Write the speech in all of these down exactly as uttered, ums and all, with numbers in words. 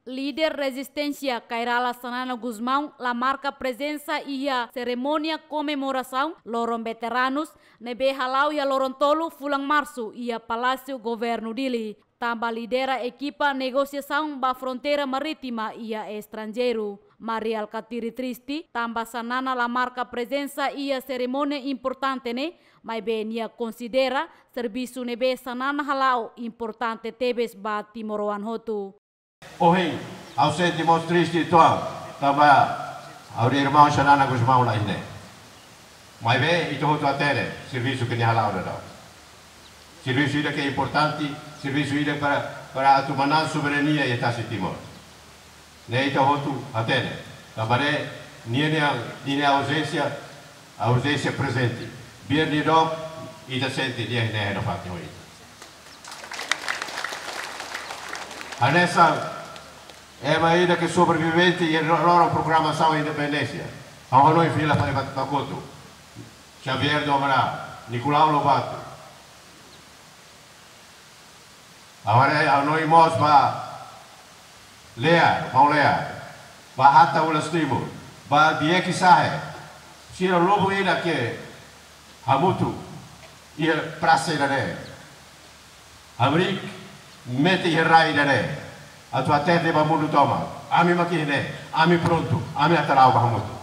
Líder rezisténsia Kay Rala Xanana Gusmão la marka prezensa iha serimónia komemorasaun loron veteranus ne'ebé hala'o iha loron tolu fulan Marsu iha Palásiu Governu Dili, tanba lidera ekipa negosiasaun ba fronteira marítima iha estranjeiru. Mari Alkatiri triste tanba Xanana la marka prezensa iha serimónia importante ne'e, maibé nia konsidera servisu ne'ebé Xanana hala'o importante tebes ba timoroan hotu. Ohin, ha'u sente mós triste uitoan, tanba ha'u-nia irmaun Xanana Gusmão la iha ne'e. Maibé ita hotu hatene servisu ke nia hala'o daudaun. Servisu ida ke importante, servisu ida para, para atu manán soberania iha tasi Timor. Ne'e ita hotu hatene. Tanba ne'e, nia, nia, nia auzénsia, auzénsia prezente. Biar nia dook, ita sente nia iha ne'e iha fatin ho ita. Hanesan ema ida ke sobrevivente iha loron proklamasaun independénsia. Ha'u hanoin fila fali ba, ba kotuk. Xavier do Amaral, Nicolau Lobato. Agora ha'u hanoin mós ba Lea, maun Lea, ba Hatta Ulas Timur, ba Dieki Sahe, sira lubuk ida ke hamutuk iha prasa ida-ne'e. Hamriik metin iha rai ida-ne'e. Atu hatete ba mundu tomak. Ami mak iha ne'e, ami prontu, ami atu la'o ba hamutuk.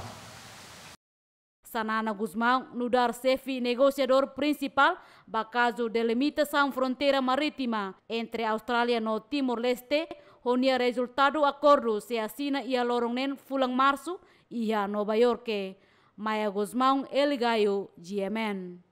Xanana Gusmão nu'udar xefe negosiadór prinsipál ba kazu delimitasaun fronteira marítima entre Austrália no Timor-Leste, ho nia rezultadu akordu sei asina iha loron neen fulan Marsu iha Nova Iorke. Maia Gusmão, Eli Gayo, G M N.